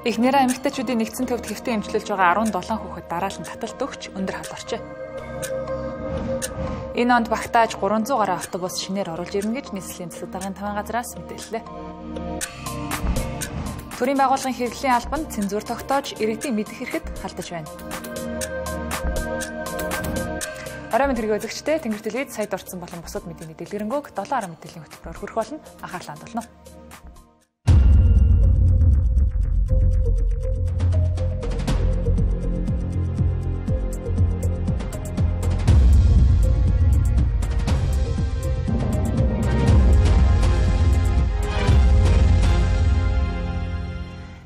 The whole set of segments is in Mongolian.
Эхнэрээ эмэгтэйчүүдийн нэгдсэн төвд хэвтэн эмчилж байгаа 17 хүүхэд дараалан таталт өгч өндөр халуурчээ. Энэ онд багтааж 300 гаруй автобус шинээр оруулж ирнэ гэж нийслэлийн засаг даргын 5 газраас мэдээллээ. Төрийн байгууллагын хэрэглэлийн албанд цензур тогтоож иргэдийн мэдэх хэрэгэд халдаж байна. Орой мэд хэрэг үзэгчдээ Тэнгэр телевиз сая дурдсан болон бусад мэдээний дэлгэрэнгүй 7 мэдээллийн хөтөлбөрөөр хүрэх болно. Анхаарлаа хандуулна.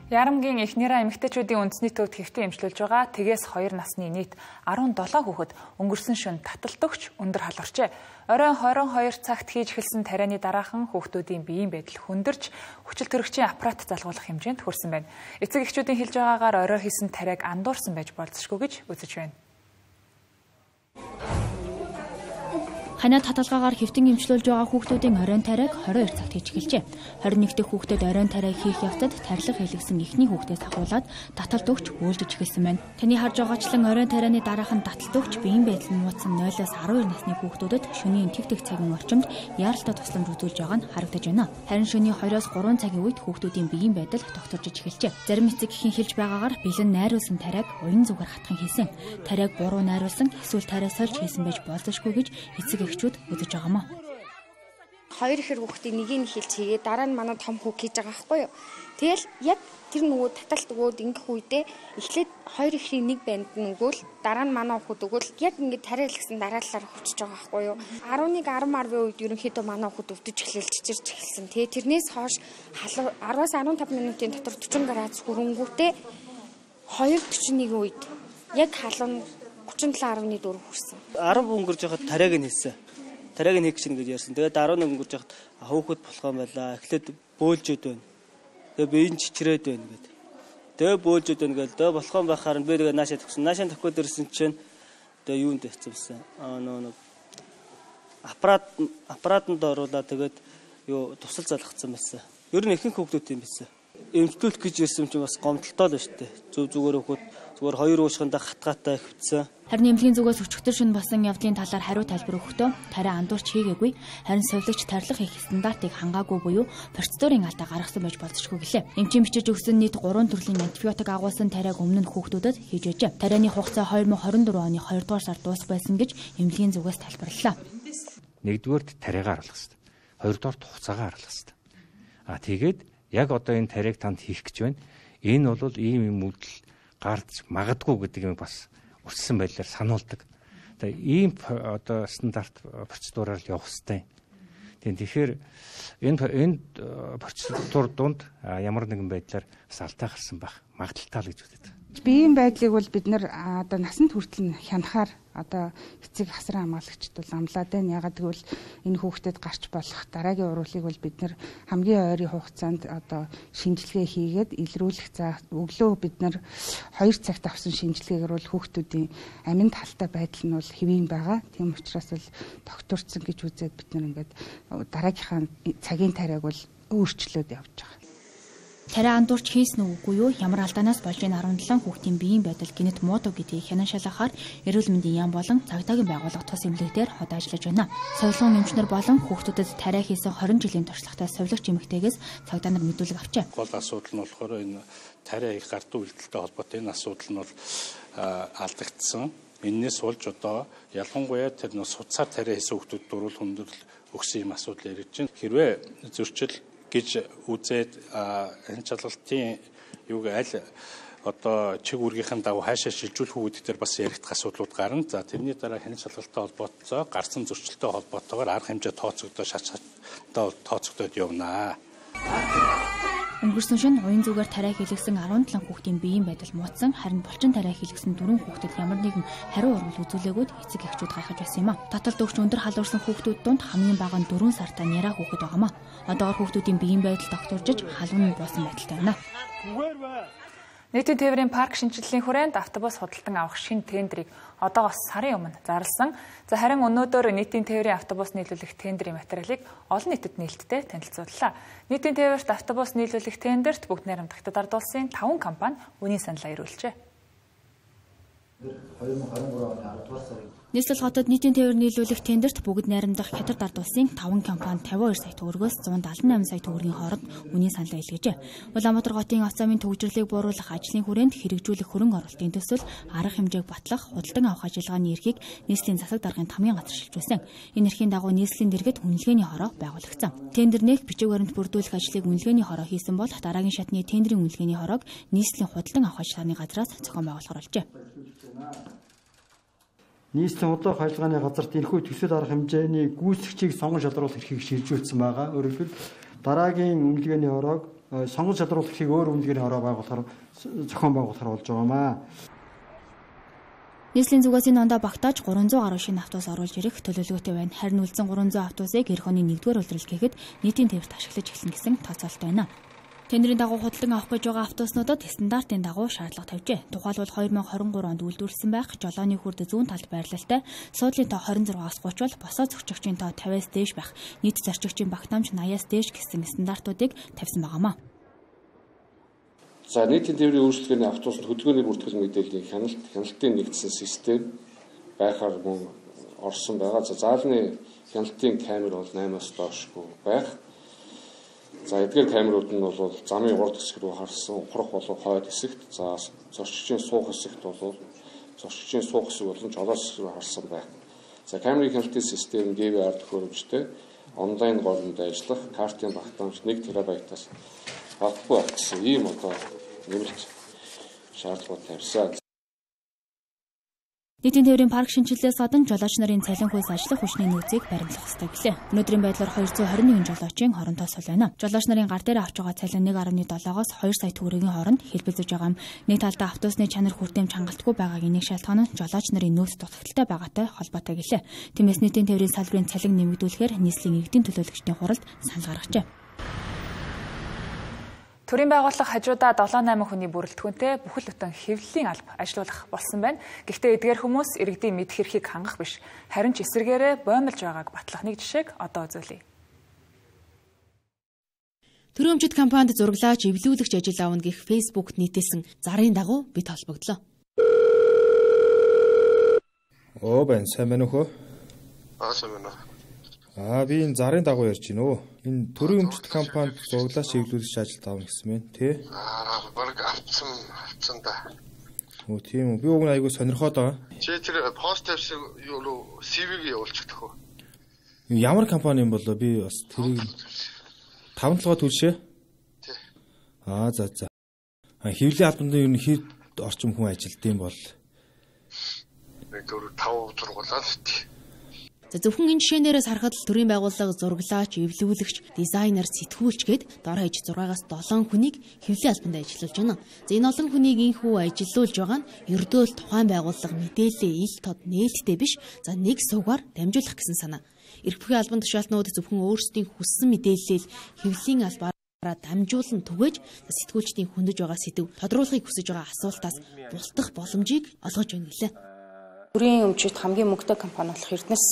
Ярамгийн эхнэрээ эмэгтэйчүүдийн үндэсний төвд хэвтэн эмчилж байгаа тэгээс 2 насны нийт 17 хүүхэд өнгөрсөн шөнө таталт өгч өндөр халуурчээ. Оройн 22 цагт хийж эхэлсэн тарианы дараахан хүүхдүүдийн биеийн байдал хүндэрч хүчил төрөгчийн аппарат залгуулах хэмжээнд хүрсэн байна. Эцэг эхчүүдийн хэлж байгаагаар орой хийсэн тариаг андуурсан байж болзошгүй гэж үзэж байна. Ханаад хаталгаагаар хэвтэн эмчилж байгаа хүүхдүүдийн оройн тариаг 22 цагт хийж эхэлжээ. 21 дэх хүүхдэд оройн тариаг хийх явцад тарилга хийлгсэн эхний хүүхдээс агуулад таталт өгч үйлдэж эхэлсэн байна. Таны харж байгаачлан оройн тарианы дараахан таталт өгч биеийн байдал нь муудсан 0-12 насны хүүхдүүдэд шөнийн тэг цагийн орчимд яаралтай тусламж үзүүлж байгаа нь харагдаж байна. Харин шөнийн 2-3 цагийн үед хүүхдүүдийн биеийн байдал тогтворж эхэлжээ. Зарим эцэг эхийн хэлж байгаагаар бэлэн найруулсан тариаг уян зүгээр хатхан хийсэн. Тариаг буруу найруулсан эсвэл тариа сольж хийсэн байж болзошгүй гэж эцэг эхчүүд үзэж байгаамаа. 2 ихэр хүүхдийн нэгийг нь хэлж хийгээ дараа нь манай том хүүг хийж байгаа байхгүй юу. Тэгэл яг тэр нөгөө таталт өгөөд ингэх үедээ эхлээд 2 ихрийн нэг банд нь өгөөл дараа нь манай хүүхд өгөөл яг ингэ тариа хэлсэн дараалалаар хөвчөж байгаа байхгүй юу. 11-10 үед ерөнхийдөө манай хүүхд өвдөж эхлэл чичирч эхэлсэн. Тэгээ тэрнээс хойш 10-аас 15 минутын дотор 40 градус хүрэнгүүтээ 2:41 үед яг халуун 37.4 хүрсэн. 10 өнгөрж яхад тариаг нь хэлсэн. Тариаг нь хийх чинь гэж ярьсан. Тэгээд 11 өнгөрж яхад хүүхэд болох юм байла. Эхлээд бөөлжөд байна. Тэгээд би энэ чичрээд байна гэдэг. Тэгээд бөөлжөд байна гээл дөө болох юм байхаар би тэгээд наашаа төгсөн. Наашаа төгөхөд ирсэн чинь тэгээд юунд тавьчихсан. Нөө аппаратанд оруулаад тэгээд юу тусал залгацсан байсан. Ер нь ихэнх хүүхдүүд юм байсан. Эмчтүүлэх гэж ирсэн чинь бас гомдолтой л шүү дээ. Зүгээр хүүхэд зүгээр 2 уушхандаа хатгаатай хөвцсөн. Харин эмнэлгийн зүгээс өчигдөр шөнө болсон явдлын талаар хариу тайлбар өгөхдөө тариа андуурч хийгээгүй. Харин совилогч тарилга хийх стандартыг хангаагүй буюу процедурын алдаа гаргасан байж болзошгүй гэлээ. Эмчийн бичиж өгсөн нийт 3 төрлийн антибиотик агуулсан тариаг өмнө нь хүүхдүүдэд хийж байжээ. Тарианы хугацаа 2024 оны 2 дугаар сард дуусах байсан гэж эмнэлгийн зүгээс тайлбарлалаа. Нэгдүгээрт тариагаа харуулах хэрэгтэй. Хоёрдугаарт хугацаагаа харуулах хэрэгтэй. Тэгээд яг одоо энэ тариаг танд хийх гэж байна. Энэ бол ийм үйлдэл гарч магадгүй гэдэг юм бас өссөн байдлаар сануулдаг. Тэгээ ийм одоо стандарт процедураар явах хэрэгтэй. Тэгэхээр энэ процедур донд ямар нэгэн байдлаар бас алдаа гарсан байх магадaltaй л гэж үздэг. Биеийн байдлыг бол бид нэр одоо насанд хүртэл хянахаар одоо эцэг хасран хамгаалагчд бол амлаад байна. Ягаад гэвэл энэ хүүхдэд гарч болох дараагийн уруулыг бол бид нэр хамгийн ойрын хугацаанд одоо шинжилгээ хийгээд илрүүлэх өглөө бид нэр 2 цагт авсан шинжилгээгээр бол хүүхдүүдийн аминд халтай байдал нь бол хэвийн байгаа. Тийм учраас бол докторцсон гэж үзээд бид нэр ингээд дараагийнхаа цагийн тариаг бол өөрчлөөд явж байгаа. Тариа андуурч хийсэн үгүй юу? Ямар алдаанаас болж энэ 17 хүүхдийн биеийн байдал гинэт муудаг гэдгийг хянан шалгахаар эрүүл мэндийн яам болон цагдаагийн байгууллага тус эмнэлэгтээр хот ажиллаж байна. Совилгын эмчнэр болон хүүхдүүдэд тариа хийсэн 20 жилийн туршлагатай совилогч эмэгтэйгээс цагдаа нар мэдүүлэг авчээ. Гол асуудал нь болохоор энэ тариа их гардуу үйлдэлтэй холбоотой энэ асуудал нь бол алдагдсан. Эннээс болж одоо ялангуяа тэр суцаар тариа хийсэн хүүхдүүд дөрвөл хүндрэл өгсөн юм асуудал яригдж байна. Хэрвээ зөрчил гэж үзээд энэ чалгалтын юуг аль одоо чиг үүргийнхэн дагуу хаашаа шилжүүлэх үүдээр бас яригдах асуудлууд гарна. За тэрний дараа хянах шалгалттай холбоотой гарсан зөрчилтэй холбоотойгоор арга хэмжээ тооцогдоод шаттай тооцогдоод явнаа. Өнгөрсөн шөнө уян зүгээр тариа хийлгсэн 17 хүүхдийн биеийн байдал муудсан, харин булчин тариа хийлгсэн 4 хүүхдэд ямар нэгэн хариу урвал үзүүлээгүйд эцэг эхчүүд гайхаж байсан юм а. Таталт өгч өндөр халуурсан хүүхдүүд донд хамгийн бага нь 4 сартай няра хүүхэд байгаамаа. Одоогор хүүхдүүдийн биеийн байдал тогтворжиж халуун нь буусан байдалтай байна. Нийтийн тээврийн парк шинжилгэлийн хүрээнд автобус худалдан авах шинэ тендерийг одоогоос сарын өмнө зарласан. Харин өнөөдөр нийтийн тээврийн автобус нийлүүлэх тендерийн материалыг олон нийтэд нээлттэй танилцууллаа. Нийтийн тээврт автобус нийлүүлэх тендерт бүгд найрамдах Хятад ард улсын 5 компани үнийн саналаа ирүүлжээ. 2023 оны 10 дугаар сарын Нийслэл хотод нийтийн тээвэр нийлүүлэх тендерт бүгд найрамдах Хятад ард улсын 5 компани 52 сая төгрөгөөс 178 сая төгрөгийн хооронд үнийн саналаа илгээжээ. Улаанбаатар хотын авто замын төвөгжрлийг бууруулах ажлын хүрээнд хэрэгжүүлэх хөрөнгө оруулалтын төсөл арга хэмжээг батлах, худалдан авах ажиллагааны эрхийг нийслэлийн засаг даргын хамгийн газар шилжүүлсэн. Энэ эрхийн дагуу нийслэлийн дэргэд үнэлгээний хороо байгуулагдсан. Тендер нээх бичиг баримт бүрдүүлэх ажлыг үнэлгээний хороо хийсэн бол дараагийн шатны тендерийн үнэлгээний хороог нийслэлийн худалдан авах ажиллагааны газраас зохион байгуулахар болжээ. нийслэлийн удаах ажиллагааны газарт энэхүү төсөл арга хэмжээний гүйцэгчийг сонгон шалгаруулах эрхийг шилжүүлсэн байгаа. Өөрөөр хэлбэл дараагийн үнэлгээний хороог сонгон шалгаруулах эрхийг өөр үнэлгээний хороо байгуулахаар зохион байгуулахар болж байгаамаа. Нийслэлийн зүгээс энэ ондоо багтааж 300 гаруй шинэ автобус оруулж ирэх төлөвлөгөөтэй байна. Харин үлдсэн 300 автобусыг эх оны 1-р улирал гэхэд нийтийн тээвэрт ашиглаж эхэлнэ гэсэн тооцоололтой байна. Тендерийн дагуу худалдан авах гэж байгаа автобуснуудад стандартын дагуу шаардлага тавьжээ. Тухайлбал 2023 онд үйлдвэрлэсэн байх жолооны хүрд зүүн талд байрлалтай суудлын тоо 26-аас 30 бол босоо зөрчигчийн тоо 50-аас дээш байх, нийт зарчигчийн багтаамж 80-аас дээш гэсэн стандартуудыг тавьсан байгаамаа. За нийтийн тээврийн үйлчлэгээний автобусд хөдөлгөөний бүртгэл мэдээллийн хяналтын нэгдсэн систем байхаар мөн орсон байгаа. За заалны хяналтын камер бол 8-аас доошгүй байх. За эдгээр камерууд нь бол замын урд хэсэг рүү харсан ухрах болон хойд хэсэгт, за зорчигчийн суух хэсэгт бол зорчигчийн суух хэсэг болон жолоос хэсэг рүү харсан байх. За камерын хяналтын систем DVR төхөөрөмжтэй онлайн голомд ажиллах, картын багтаамж 1 терабайтаас багагүй байх гэсэн ийм одоо нэмэлт шаардлагууд тавьсан. Нийтийн тээврийн парк шинжилгээс гадна жолооч нарын цалин хүйс ажиллах хүчний нөөцийг баримтлах ёстой гэлээ. Өнөөдрийн байдлаар 221 жолоочийн хоронтой сул байна. Жолооч нарын гар дээр авч байгаа цалин 1.7-оос 2 сая төгрөгийн хооронд хэлбэлзэж байгаа юм. Нэг талдаа автобусны чанар хүртээмж хангалтгүй байгаагийн нэг шалтгаан нь жолооч нарын нөөц дутагдaltaй байгаатай холбоотой гэлээ. Тиймээс нийтийн тээврийн салбарын цалин нэмэгдүүлэхээр нийслэлийн иргэдийн төлөөлөгчдийн хуралд санал гаргажээ. Төрийн байгууллага хажуудаа 7-8 хүний бүрэлдэхүүнтэй бүхэл бүтэн хэвлэлийн алба ажилуулах болсон байна. Гэхдээ эдгээр хүмүүс иргэдийн мэдэх эрхийг хангах биш, харин ч эсэргээрээ боомлж байгааг батлах нэг жишээг одоо үзүүлье. Төрөмжид компанид зураглаач эвлүүлэгч ажил авна гэх Facebook нийтэлсэн зарын дагуу бид холбогдлоо. Бэн сайн байна уу? Сайн байна. Би энэ зарын дагуу ярьж байна уу? Энэ төрийн өмчт компанид зураглаач эвлүүлэгч ажил авна гэсэн мэн тий? Бараг авцсан да. Тийм үү. Би уг нь айгүй сонирхоод байгаа. Чи тэр пост тавьсан юу CV-г явуулчихдаг уу? Ямар компани юм болоо би бас тэрийг 5 толгой төлшөө. Тий. За. Хэвлэлийн албанд ер нь хэд орчим хүн ажилдсан бол 4-5 зургуулаад тий. За зөвхөн энэ жишээнээрээс харахад төрийн байгууллага зураглаач, эвлүүлэгч, дизайнер, сэтгүүлч гээд дор хаяж 6-аас 7 хүнийг хэвлэлийн албанд ажиллуулж байна. За энэ олон хүнийг инхүү ажиллуулж байгаа нь ердөө л тухайн байгууллага мэдээлэлээ ил тод нээлттэй биш, за нэг сувгаар дамжуулах гэсэн санаа. Эрх бүхий албан тушаалтнууд зөвхөн өөрсдийн хүссэн мэдээллийг хэвлэлийн албаараа дамжуулан түгээж сэтгүүлчдийн хөндөж байгаа сэдв тодруулахыг хүсэж байгаа асуултаас бултах боломжийг олгож байна гэлээ. Төрийн өмчит хамгийн мөнгөтэй компани болох Эрдэнэс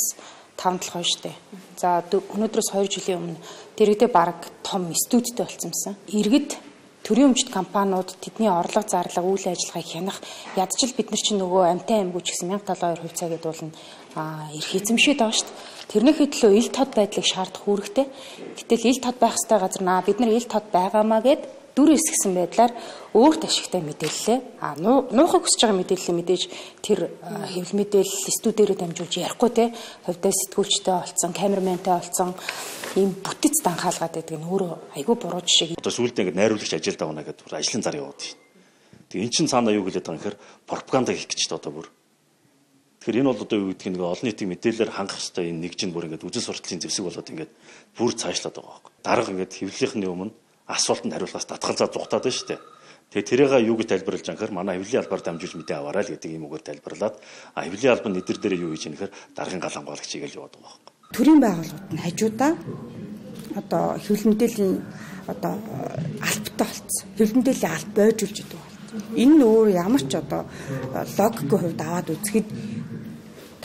5 толгой шүү дээ. За өнөөдрөөс 2 жилийн өмнө дэргэдээ баг том студиутэй болцсон. Иргэд төрийн өмчит компаниуд тэдний орлого зарлага үйл ажиллагааг хянах ядчил бид нар чинь нөгөө амтай аймгууч гэсэн 1072 хувьцаа гэдэг бол эрх эзэмшээд байгаа шүү дээ. Тэрнийхээ төлөө ил тод байдлыг шаардах үүрэгтэй. Гэтэл ил тод байх ёстой газар бид нар ил тод байгаамаа гэд дүр эсгсэн байдлаар өөрт ашигтай мэдээллээ нуухыг хүсэж байгаа мэдээллийг мэдээж тэр хэвлэл мэдээлэл студиэрээ дамжуулж ярихгүй те хувьдаа сэтгүүлчтэй олцсон, камерментэй олцсон ийм бүтэц данхаалгаад байдаг нь өөрөө айгүй буруу жишээ. Одоо сүүлдээ ингэ найруулагч ажилд авна гэдэг ажлын зар яваад байна. Тэгээ эн чин цаанаа юу гэлээд байгаа юм гэхээр пропаганда хийх гэж та одоо бүр. Тэгэхээр энэ бол одоо юу гэдэг нэг олон нийтийн мэдээлэлээр хангах хэрэгтэй энэ нэг чинь бүр ингэ үжил сурталчилын зэвсэг болоод ингэ бүр цаашлаад байгаа байхгүй. Дарга ингэ хэвлэлийнхний өмнө асуултанд хариулахаас татгалзаа зүхтаад байна шүү дээ. Тэгээ тэрийг юу гэж тайлбарлаж байгаа гэхээр манай хэвлэлийн албаар дамжуулж мэдээ аваарай л гэдэг юм үгээр тайлбарлаад хэвлэлийн албан нэдэр дээр юу хийж яах гэхээр даргын галангуулагч хийгээл яваад байгаа байхгүй. Төрийн байгууллагууд нь хажуудаа одоо хэвлэл мэдээллийн одоо албатай болсон. Хэвлэл мэдээллийн алба бойжулж идэв. Энэ нь өөр ямар ч одоо логикийн хувьд аваад үзэхэд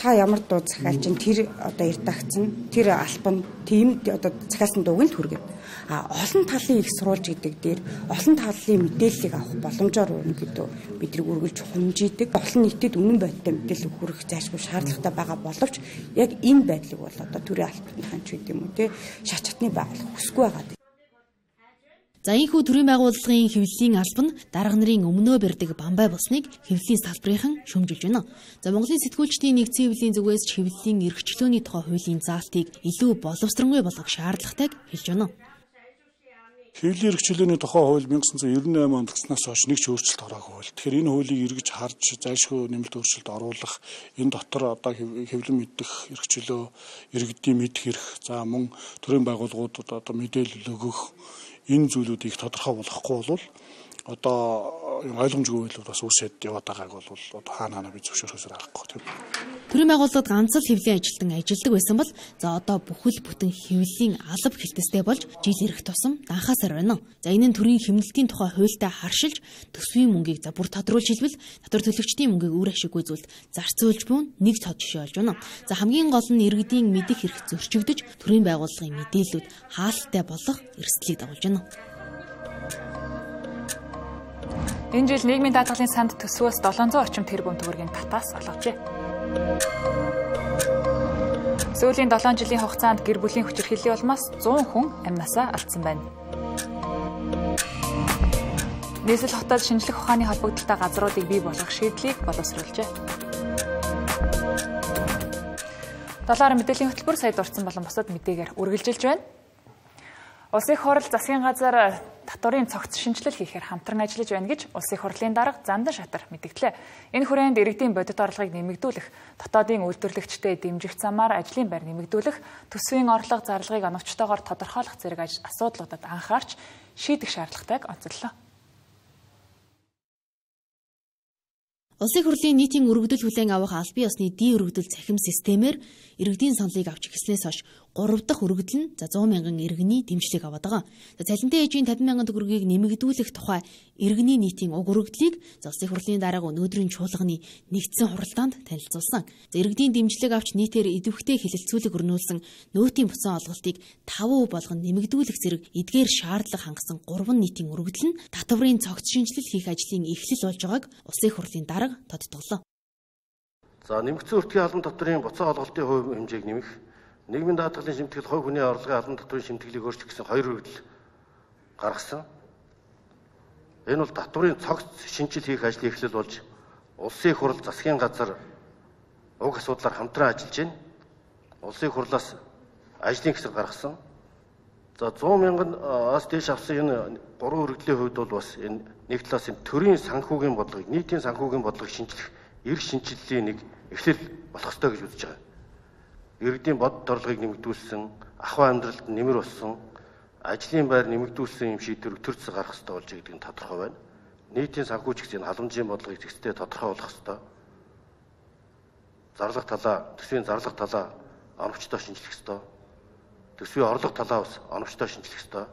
та ямар дуу захиалж чинь тэр одоо редакцэн тэр албан тийм одоо захиалсан дууг нь түргэн. Олон талын их сурвалж гэдэг дээр олон талын мэдээллийг авах боломжоор ерөнхийдөө бидний үргэлж хумжийдэг. Олон нийтэд үнэн бодиттой мэдээлэл хүргэх зайлшгүй шаардлагатай байгаа боловч яг энэ байдлыг бол одоо төрийн албаны ч гэдэг юм уу те шат чатны байгууллага хүсэхгүй байгаа. За энэхүү төрийн байгууллагын хэвлэлийн албан дарга нарын өмнөө барьдаг бамбай болсныг хэвлэлийн салбарынхан шүүмжилж байна. За Монголын сэтгүүлчдийн нэгдсэн хэвлэлийн зүгээс ч хэвлэлийн эрхчлөөний тухай хуулийн заалтыг илүү боловсронгуй болгох шаардлагатайг хэлж байна. Хэвлэлийн эрхчлөөний тухай хууль 1998 онд гиснаас хойш нэг ч өөрчлөлт ороогүй хууль. Тэгэхээр энэ хуулийг эргэж харж зайлшгүй нэмэлт өөрчлөлт оруулах, энэ дотор одоо хэвлэн мэдэх эрхчлөө, иргэдийн мэдэх эрх, за мөн төрийн байгууллагуудад одоо мэдээлэл өгөх энэ зүйлүүдийг тодорхой болгохгүй бол одоо ойлгомжгүй байлууд бас үсэд яваад байгааг бол одоо хаана би зөвшөөрөхөөр аргагүй тийм. Төрийн байгууллагад ганц л хэвлэлийн ажилтан ажилладаг байсан бол за одоо бүхэл бүтэн хэвлэлийн алба хэлтстэй болж жил ирэх тусам данхаасаар байна. За энэ нь төрийн хэмнэлтийн тухай хуультай харшилж төсвийн мөнгийг за бүр тодруулж хэлбэл татвар төлөгчдийн мөнгийг үр ашиггүй зүйлд зарцуулж буун нэг тод жишээ болж байна. За хамгийн гол нь иргэдийн мэдих эрх зөрчигдөж төрийн байгууллагын мэдээллүүд хаалттай болох эрсдлийг дагуулж байна. Энэ жил нийгмийн даатгалын санд төсвөөс 700 орчим тэрбум төгрөгийн татаас олгожээ. Сүүлийн 7 жилийн хугацаанд гэр бүлийн хүчирхийллийн улмаас 100 хүн амнасаа алдсан байна. Нийслэл хотод шинжлэх ухааны холбогдолтой газруудыг бий болгох шийдлийг боловсруулжээ. Долларын мэдээллийн хөтөлбөр сая дурдсан болон бусад мэдээгээр үргэлжилж байна. Улсын их хурл засгийн газар татварын цогц шинжилэл хийхээр хамтран ажиллаж байна гэж Улсын их хурлын дарга Зандан Шатар мэдгдлээ. Энэ хүрээнд иргэдийн бодит орлогыг нэмэгдүүлэх, дотоодын үйлдвэрлэгчдэд дэмжих замаар ажлын байр нэмэгдүүлэх, төсвийн орлого зарлагыг оновчтойгоор тодорхойлох зэрэг асуудлуудад анхаарч шийдэх шаардлагатайг онцоллоо. Улсын хурлын нийтийн өргөдөл хүлээн авах аль бие усны ди өргөдөл цахим системээр иргэдийн саналыг авч эхэлснээс хойш 3 дахь өргөдөл нь 100 мянган иргэний дэмжлэг аваад байгаа. Цалинтай ээжийн 50 мянган төгрөгийг нэмэгдүүлэх тухай иргэний нийтийн уг өргөдлийг Улсын хурлын дарга өнөөдрийн чуулганы нэгдсэн хуралдаанд танилцуулсан. Иргэдийн дэмжлэг авч нийтээр идэвхтэй хэлэлцүүлэг өрнүүлсэн нөөтийн буцаан олголтыг 5% болгон нэмэгдүүлэх зэрэг эдгээр шаардлага хангасан 3 нийтийн өргөдөл нь татварын цогц шинжилэл хийх ажлын эхлэл болж байгааг Улсын хурлын дарга тодтоглоо. За нэмэгдсэн өртгийн албан татварын буцаан олголтын хувь хэмжээг нэмэх, нийгмийн даатгалын шимтгэл, хувь хүний орлогын албан татварын шимтгэлийг өөрчлөх гэсэн 2 өргөдөл гаргасан. Энэ бол татварын цогц шинжил хийх ажлын эхлэл болж Улсын их хурл засгийн газар уг асуудлаар хамтран ажиллаж байна. Улсын их хурлаас ажлын хэсэг гаргасан. За 100 мянган-аас дээш авсан энэ 3 өргөдлийн хувьд бол бас энэ нэг талаас энэ төрийн санхүүгийн бодлогыг, нийтийн санхүүгийн бодлогыг шинжлэх эрх шинжиллийн нэг эхлэл болох ёстой гэж үзэж байгаа. Иргэдийн бодит орлогыг нэмэгдүүлсэн, ахуй амьдралд нэмэр болсон, ажлын байр нэмэгдүүлсэн юм шийдвэр төр зэс гарах ёстой болж байгаа гэдэг нь тодорхой байна. Нийтийн санхүүч гэсэн халамжийн бодлогыг зэгцтэй тодорхой болгох ёстой. Зарлах талаа, төсвийн зарлах талаа оновчтой шинжлэх ёстой. Төсвийн орлого талаа бас оновчтой шинжлэх ёстой.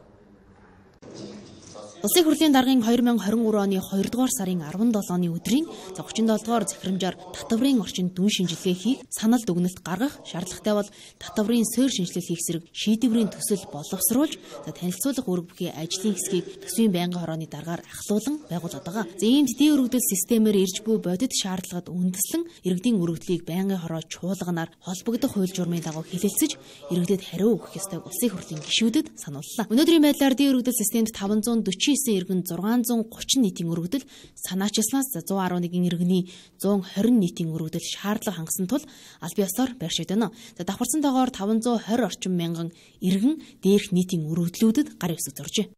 Улсын хурлын даргын 2023 оны 2 дугаар сарын 17-ны өдрийн 37 дугаар захирамжаар татварын орчинд дүн шинжилгээ хийх, санал дүгнэлт гаргах шаардлагатай бол татварын суурь шинжилэл хийх зэрэг шийдвэрийн төсөл боловсруулж, танилцуулах үүрэг бүхий ажлын хэсгийг төсвийн байнгын хорооны даргаар ахлуулан байгуулад байгаа. Энд ди өргөдөл системээр ирж буй бодит шаардлагад үндэслэн иргэдийн өргөдлийг байнгын хороо чуулганаар холбогдох хууль журмын дагуу хэлэлцэж, иргэдэд хариу өгөх ёстойг Улсын хурлын гишүүдэд санууллаа. Өнөөдрийн байдлаар ди өргөдөл системд 549 иргэн 630 нийтийн өргөдөл, санаачилснаас 111 иргэний 120 нийтийн өргөдөл шаардлага хангасан тул аль бие усаар байршиж байна. Давхарсантайгаар 520 орчим мянган иргэн дээрх нийтийн өргөдлүүдэд гар ивс зуржээ.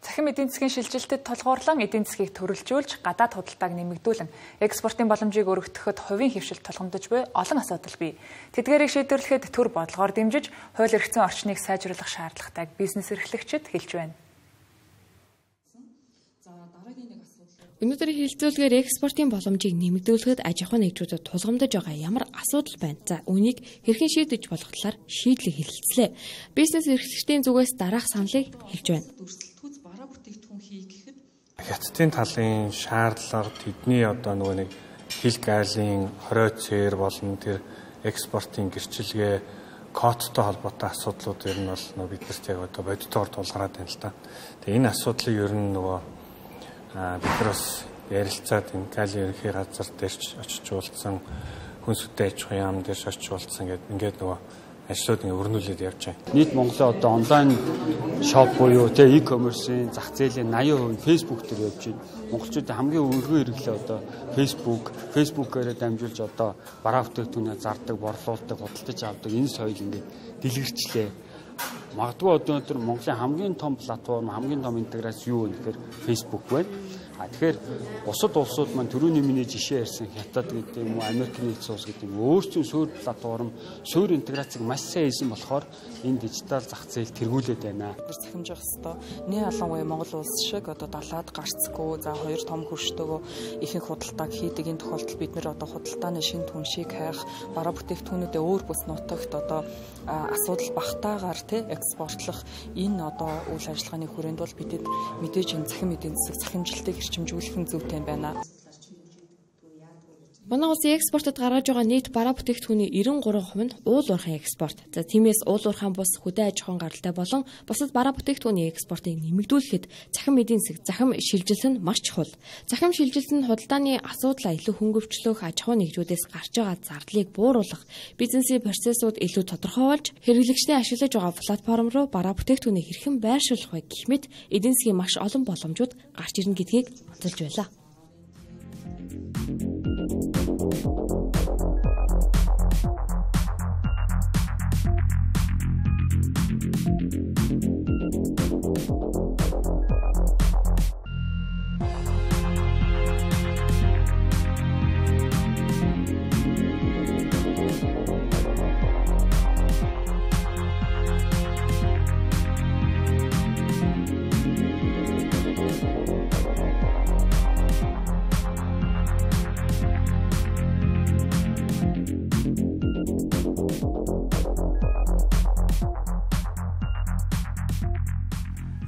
Цахим эдийн засгийн шилжилтэд тулгуурлан эдийн засгийг төрөлжүүлж, гадаад худалдааг нэмэгдүүлэн, экспортын боломжийг өргөдөхөд хувийн хэвшил тулгамдж буй олон асуудал бий. Тэдгээрийг шийдвэрлэхэд төр бодлогоор дэмжиж, хууль эрхцэн орчныг сайжруулах шаардлагатайг бизнес эрхлэгчид хэлж байна. Өнөөдрийн хэлэлцүүлгээр экспортын боломжийг нэмэгдүүлэхэд аж ахуйн нэгжүүдэд тулгамдж байгаа ямар асуудал байна? За үүнийг хэрхэн шийдэж болох талаар шийдлийг хэлэлцлээ. Бизнес эрхлэгчдийн зүгээс дараах саналыг хэлж байна. хятадын талын шаардлага тэдний одоо нөгөө нэг хил гайлын хорой цээр болон тэр экспортын гэрчилгээ кодтой холбоотой асуудлууд ер нь бол нөгөө биднэрт яг одоо бодитоор тулгараад байна л да. Тэгээ энэ асуудлыг ер нь нөгөө бид нар бас ярилцаад энэ галийн ерөнхий газар дээрч очиж уулзсан, хүнсүтэй аж ахуйн яам дээрч очиж уулзсан гэдэг ингээд нөгөө ажлууд ингээ өрнүүлээд явж байна. Нийт Монголын одоо онлайн шоп буюу e-commerce-ийн зах зээлийн 80% Facebook дээр явж байна. Монголчуудын хамгийн өргөн хэрэглээ одоо Facebook-ээр дамжуулж одоо бараа бүтээгдэхүүнээ зардаг, борлуулдаг, худалдаж авдаг энэ соёл ингээ дэлгэрчлээ. Магадгүй одоо өнөөдөр Монголын хамгийн том платформ, хамгийн том интеграц юу вэ гэхээр Facebook байна. Тэгэхээр бусад улсууд маань түрүүний миний жишээ ярьсан Хятад гэдэг юм уу, Америкийн нэгдсэн улс гэдэг юм өөрсдийн суурь платформ, суурь интеграцыг маш сайн хийсэн болохоор энэ дижитал зах зээл тэргүүлээд байна. Захимжих хэвээр нэг ялангуяа Монгол улс шиг одоо далаад гарцгүй, за хоёр том хөрштөөгөө ихэнх худалдааг хийдэг энэ тохиолдолд бид нэр одоо худалдааны шинэ түншийг хайх, бараа бүтээгдэхүүнүүдээ өөр бүс нутагт одоо асуудал багтаагаар экспортлох энэ одоо үйл ажиллагааны хүрээнд бол бидэд мэдээж энэ захин эдийн засаг захимжилтыг эрчимжүүлэх нь зүйтэй байна. Манай улсын экспортод гаргаж байгаа нийт бараа бүтээгдэхүүний 93% нь уул уурхайн экспорт. За тиймээс уул уурхайн бус хөдөө аж ахуйн гаралтай болон бусад бараа бүтээгдэхүүний экспортыг нэмэгдүүлэхэд захин эдийн засаг, захин шилжилт нь маш чухал. Захин шилжилт нь худалдааны асуудлаа илүү хөнгөвчлөх, аж ахуйн нэгжүүдээс гарч байгаа зардлыг бууруулах, бизнесийн процессууд илүү тодорхойлж, хэрэглэгчдийн ашиглаж байгаа платформ руу бараа бүтээгдэхүүнийг хэрхэн байршуулах вэ гэх мэт эдийн засгийн маш олон боломжууд гарч ирнэ гэдгийг онцолж байлаа.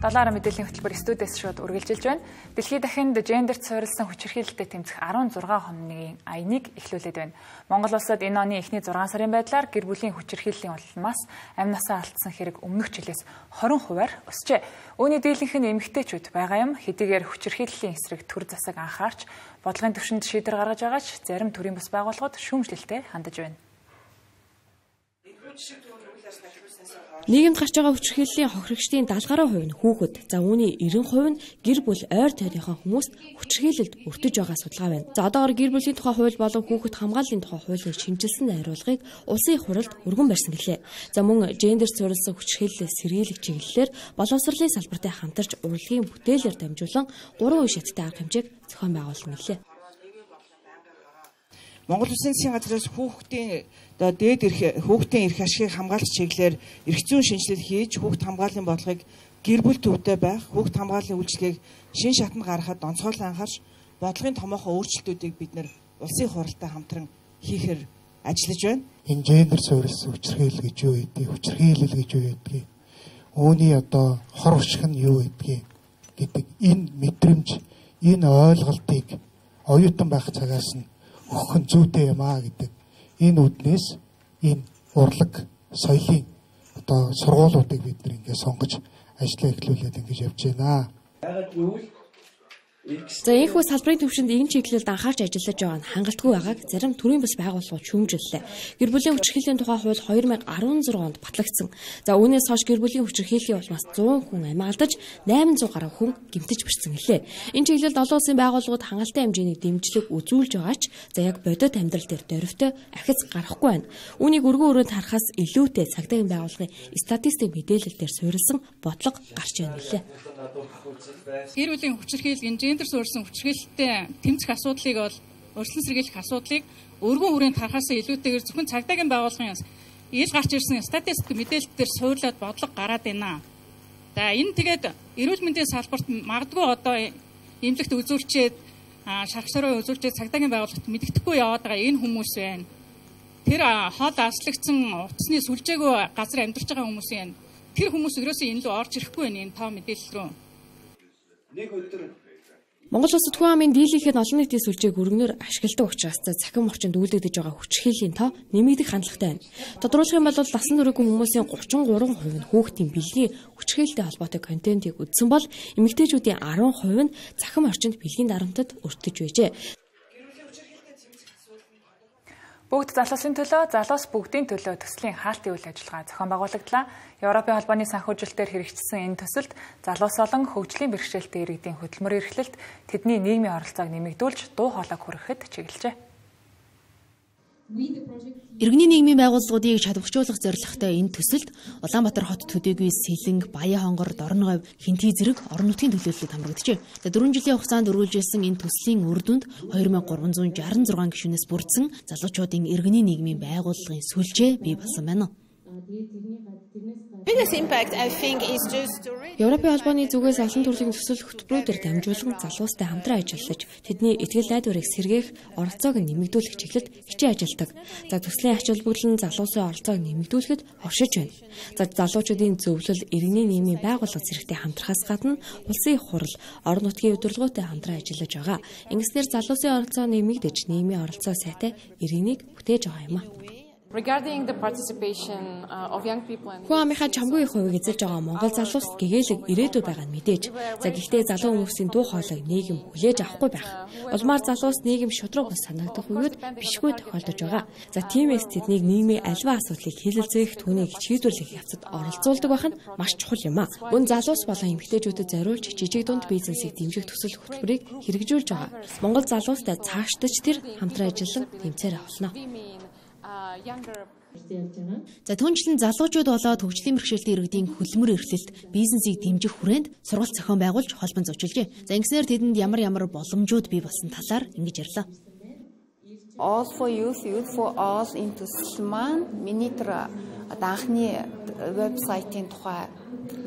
Долларын мэдээллийн хөтөлбөр студиэс шууд үргэлжилж байна. Дэлхийд дахинд гендерт суурилсан хүчирхийлэлтэд тэмцэх 16 хоногийн аяныг эхлүүлээд байна. Монгол улсад энэ оны эхний 6 сарын байдлаар гэр бүлийн хүчирхийллийн улмаас амь насаа алдсан хэрэг өмнөх жилээс 20%-аар өсжээ. Үүний дийлэнх нь эмэгтэйчүүд байгаа юм. Хэдийгээр хүчирхийллийн эсрэг төр засаг анхаарч бодлогын түвшинд шийдвэр гаргаж байгаач зарим төрийн бас байгууллагууд шүүмжлэлтэй хандаж байна. Нийгэмд гарч байгаа хүчирхийллийн хохирогчдын 70% нь хүүхэд, за үүний 90% нь гэр бүл ойр тойрныхон хүмүүст хүчирхийлэлд өртөж байгаа судалгаа байна. За одоогоор гэр бүлийн тухай хууль болон хүүхэд хамгааллын тухай хуулийг шинжилсэн найруулгыг улсын их хурлд өргөн барьсан гэлээ. За мөн гендер суурилсан хүчирхийллээс сэргийлэх чиглэлээр боловсролын салбартай хамтарч урлагийн бүтээлээр дамжуулан 3 үе шаттай арга хэмжээг зохион байгуулсан гэлээ. Монгол Улсын засгийн газраас хүүхдийн эрх ашигыг хамгаалах чиглэлээр эрх зүйн шинжилэл хийж хүүхд хамгааллын бодлогыг гэр бүл төвтэй байх, хүүхд хамгааллын үйлчилгээг шин шатанд гаргахад онцгойлон анхаарч бодлогын томоохон өөрчлөлтүүдийг бид нар улсын хуралтай хамтран хийхээр ажиллаж байна. Энэ гендер суурилсан хүчирхийлэл гэж юу гэдэг, хүчирхийлэл гэж юу гэдэг, үүний одоо хор уршиг нь юу гэдэг энэ мэдрэмж, энэ ойлголтыг оюутан байх цагаас нь өгөх нь зүйтэй юм аа гэдэг энэ үднээс энэ урлаг соёлын одоо сургуулиудыг бид нэр ингээд сонгож ажиллаа эхлүүлээд ингэж явж байна. За энэхүү салбарын түвшинд энэ чиглэлд анхаарч ажиллаж байгаа нь хангалтгүй байгааг зарим төрийн бас байгууллагууд шүүмжиллээ. Гэр бүлийн хүчирхийллийн тухай хууль 2016 онд батлагдсан. За үүнээс хойш гэр бүлийн хүчирхийллийн улмаас 100 хүн амь алдаж 800 гаруй хүн гэмтэж бэрсэн гэлээ. Энэ чиглэлд олон улсын байгууллагууд хангалттай хэмжээний дэмжлэг үзүүлж байгаач за яг бодит амьдрал дээр дөрвтэй ахиц гарахгүй байна. Үүнийг өргөн өрөөнд харахаас илүүтэй цагдаагийн байгууллагын статистик мэдээлэл дээр суурилсан бодлого гарч байна гэлээ. Гэр бүлийн хүчирхийлэл гендер суурилсан хүчирхийлэлтэй тэмцэх асуудлыг бол өршлөн сэргийлэх асуудлыг өргөн хүрээнд харахаас илүүтэйгээр зөвхөн цагдаагийн байгууллагын ил гарч ирсэн статистик мэдээлэлээр суурлаад бодлого гараад байна. За энэ тэгээд эрүүл мэндийн салбарт магадгүй одоо эмнэлэгт үзүүлчихэд шархсараа үзүүлчихэд цагдаагийн байгууллагт мэддэхгүй яваад байгаа энэ хүмүүс байна. Тэр хол аслагдсан утасны сүлжээгөө газар амьдарч байгаа хүмүүс байна. Тэр хүмүүс ерөөсөө энэ рүү орж ирэхгүй байна энэ тав мэдээлэл рүү. Нэг өдөр Монгол Улс Түгээн амын дийлэнхэд олон нийтийн сүлжээг өргөнөөр ашигладаг учраас цахим орчинд үйлдэгдэж байгаа хүчирхийллийн тоо нэмэгдэх хандлагатай байна. Тодорхойлох юм бол насан туршийн хүмүүсийн 33% нь хүүхдийн бэлгийн хүчирхийлэлтэй холбоотой контентийг үзсэн бол эмэгтэйчүүдийн 10% нь цахим орчинд бэлгийн дарамтад өртөж байжээ. Бүгд залуусын төлөө, залуус бүгдийн төлөө төслийн хаалтын үйл ажиллагаа зохион байгуулагдлаа. Европын холбооны санхүүжилтээр хэрэгжсэн энэ төсөлд залуус болон хөгжлийн бэрхшээлтэй иргэдийн хөдөлмөр эрхлэлт, тэдний нийгмийн оролцоог нэмэгдүүлж дуу хоолойг хүрэхэд чиглэжээ. Иргэний нийгмийн байгууллагуудыг чадварчуулах зорилготой энэ төсөлд Улаанбаатар хот төдийгүй Сэлэнг, Баян хонгор, Дорноговь, Хинтий зэрэг орон нутгийн төлөөлөлд хамрагджээ. 4 жилийн хугацаанд өргөжүүлсэн энэ төслийн үр дүнд 2366 гишүүнээс бүрдсэн залуучуудын иргэний нийгмийн байгууллагын сүлжээ бий болсон байна. Европын холбооны зүгээс олон төрлийн төсөл хөтөлбөрүүдээр дамжуулан залуустай хамтран ажиллаж, тэдний итгэл найдварыг сэргээх, оролцоог нэмэгдүүлэх чиглэлд хичээн ажилладаг. За төслийн ач холбогдол нь залуусын оролцоог нэмэгдүүлэхэд оршиж байна. За залуучуудын зөвлөл, иргэний нийгмийн байгууллага зэрэгтэй хамтрахаас гадна улсын их хурл, орон нутгийн удирдлагуудтай хамтран ажиллаж байгаа. Ингэснээр залуусын оролцоо нэмэгдэж, нийгмийн оролцоо сайтай иргэнийг бүтээж байгаа юм а. Regarding the participation of young people and Хүн амынхаа чамгүй их хувийг эзэлж байгаа Монгол залуус гэгээлэг ирээдүй байгаа нь мэдээж. За гэхдээ залуу хүмүүсийн дуу хоолойг нийгэм хүлээж авахгүй байх. Улмаар залуус нийгэм шудраг бус санагдах үеуд бишгүй тохиолдож байгаа. За тиймээс тэднийг нийгмийн альва асуудлыг хэлэлцэх, түүнийг шийдвэрлэх явцад оролцуулдаг байх нь маш чухал юм а. Мөн залуус болон эмэгтэйчүүдэд зориулж жижиг дунд бизнесийг дэмжих төсөл хөтөлбөрийг хэрэгжүүлж байгаа. Монгол залуустай цаашдаж тэр хамтран ажиллан тэмцээр авлаа. За түүнчлэн залуучууд болоод хөгжлийн бэрхшээлтэй иргэдийн хөдөлмөр эрхлэлт, бизнесийг дэмжих хүрээнд сургалт зохион байгуулж холбон зочилжээ. За ингэснээр тэдэнд ямар боломжууд бий болсон талаар ингэж ярьлаа. All for youth, youth for all энэ төсөл маань миний тэр анхны вебсайтын тухай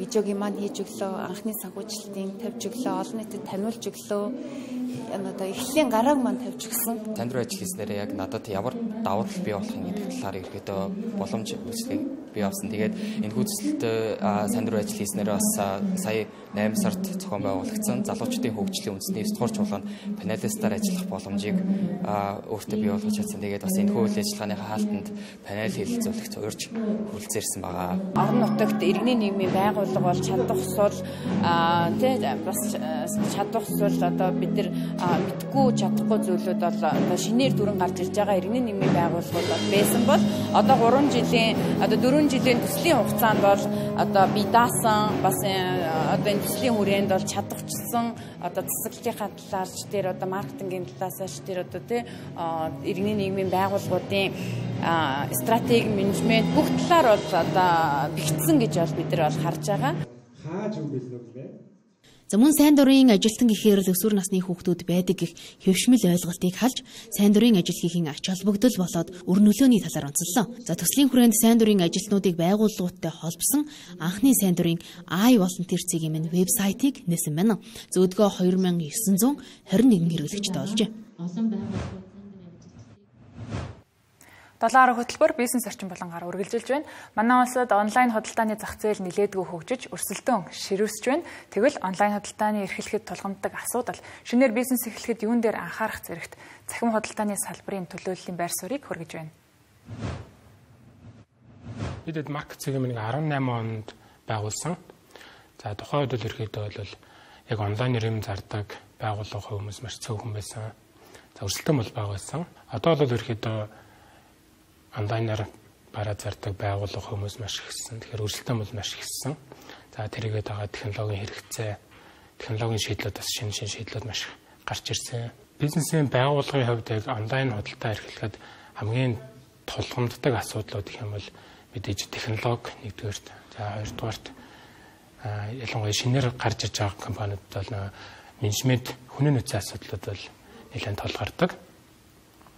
видеог маань хийж өглөө, анхны санхүүжилтийн тавьж өглөө, олон нийтэд таниулж өглөө. Эхлэлийн гарааг маань тавьж өгсөн. Танд руу ажил хийснээр яг надад ямар давуу тал бий болох юм гэдэг талаар ерөөдөө боломж үүсгэе бий авсан. Тэгээд энэ хүчтэй танд руу ажил хийснээр бас сая 8 сард зохион байгуулагдсан залуучдын хөгжлийн үндэсний 9 дугаар чуулганд панелистаар ажиллах боломжийг өөртөө бий болгож чадсан. Тэгээд бас энэ үйл ажиллагааны хаалтанд панел хэлэлцүүлэгт урьж хүрэлцээрсэн байгаа. Орон нутагт иргэний нийгмийн байгууллага бол чадах усвал бас чадах усвал одоо бид нар мэдгүй чадахгүй зүйлүүд бол шинээр дүрэн гарч ирж байгаа иргэний нийгмийн байгууллагууд байсан бол одоо 4 жилийн төслийн хугацаанд бол одоо би даасан бас одоо энэ төслийн хүрээнд бол чадварчсан одоо засаглалтын талаар ч тэр одоо маркетингийн талаас ч тэр одоо тий иргэний нийгмийн байгууллагуудын стратеги менежмент бүх талаар бол одоо бэгдсэн гэж бол бид нар бол харж байгаа. Хааж юм билээ үү? За мөн сайн дурын ажилтан гэхээр л өсвөр насны хүүхдүүд байдаг гэх хэвшмэл ойлголтыг халж сайн дурын ажил хийхин ач холбогдол болоод өр нөлөөний талаар онцлоо. За төслийн хүрээнд сайн дурын ажилтнуудыг байгууллагуудтай холбосон анхны сайн дурын iVolunteer цэгийн минь вебсайтыг нээсэн байна. Зөөдгөө 2921 хэрэглэгчтэй олжээ. 7 хөтөлбөр бизнес орчин болонгаар үргэлжилж байна. Манай улсад онлайн худалдааны зах зээл нэлээдгүй хөгжиж, өрсөлдөөн ширүүсэж байна. Тэгвэл онлайн худалдааны эрхлэхэд тулгамддаг асуудал, шинээр бизнес эхлэхэд юун дээр анхаарах зэрэгт цахим худалдааны салбарын төлөөллийн байр суурийг хүргэж байна. Бидэд маркет цэгийн 18 онд байгуулсан. За тухайн үед ерөөхдөө бол яг онлайнаар юм зардаг байгууллага хүмүүс маш цөөхөн байсан. За өрсөлдөөн бол бага байсан. Одоо бол ерөөхдөө онлайнаар бараа зардаг байгууллага хүмүүс маш ихсэн. Тэгэхээр өрсөлдөөн бол маш ихсэн. За тэрийгээд байгаа технологийн хэрэгцээ, технологийн шийдлүүд бас шинэ шийдлүүд маш гарч ирсэн. Бизнесийн байгууллагын хувьд яг онлайн худалдаа эрхлэхэд хамгийн тулгамддаг асуудлууд гэх юм бол мэдээж технологи нэгдүгээрт, за хоёрдугаарт ялангуяа шинээр гарч иж байгаа компаниуд бол менежмент хүний нөөцийн асуудлууд бол нэлээд тулгардаг.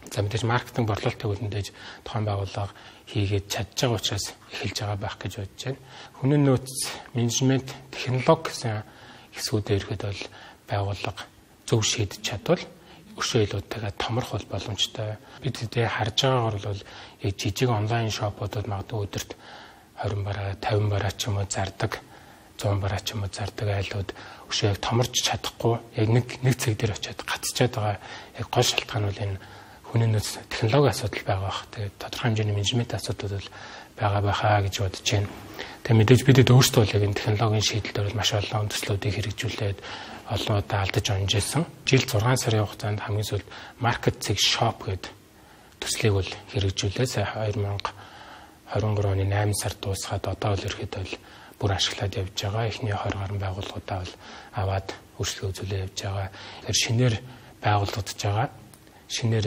За мэдээж маркетинг борлуулалтыг үлдээж тухайн байгууллага хийгээд чадж байгаа учраас эхэлж байгаа байх гэж бодож байна. Хүний нөөц, менежмент, технологи гэсэн хэсгүүдээр ирэхэд бол байгууллага зөв шийдэж чадвал өшөө илүүтэйгээ томрох бол боломжтой. Бид хэдий харж байгаагаар бол яг жижиг онлайн шопуудад магадгүй өдөрт 20 бараа, 50 бараа ч юм уу зардаг 100 бараа ч юм уу зардаг айлууд өшөө яг томорч чадахгүй яг нэг цаг дээр очиад гацчаад байгаа яг гол шалтгаан бол энэ хүний нөөц технологийн асуудал байгаа бах. Тэгээд тодорхой хэмжээний менежмент асуудлууд бол байгаа байхаа гэж бодож байна. Тэгээд мэдээж бидэд өөрсдөө л яг энэ технологийн шийдэлд бол маш олон төслүүдийг хэрэгжүүлээд олон удаа алдаж онжсэн. Жил 6 сарын хугацаанд хамгийн сүүлд Market Zig Shop гэдэг төслийг бол хэрэгжүүлээ. Сая 2023 оны 8 сард дуусгаад одоо л ерөөхдөө бол бүр ашиглаад явж байгаа. Эхний 20 гаруй байгууллагуудаа бол аваад өөрчлөлт үзүүлээ явж байгаа. Тэгэхээр шинээр байгуулагдаж байгаа. Шинээр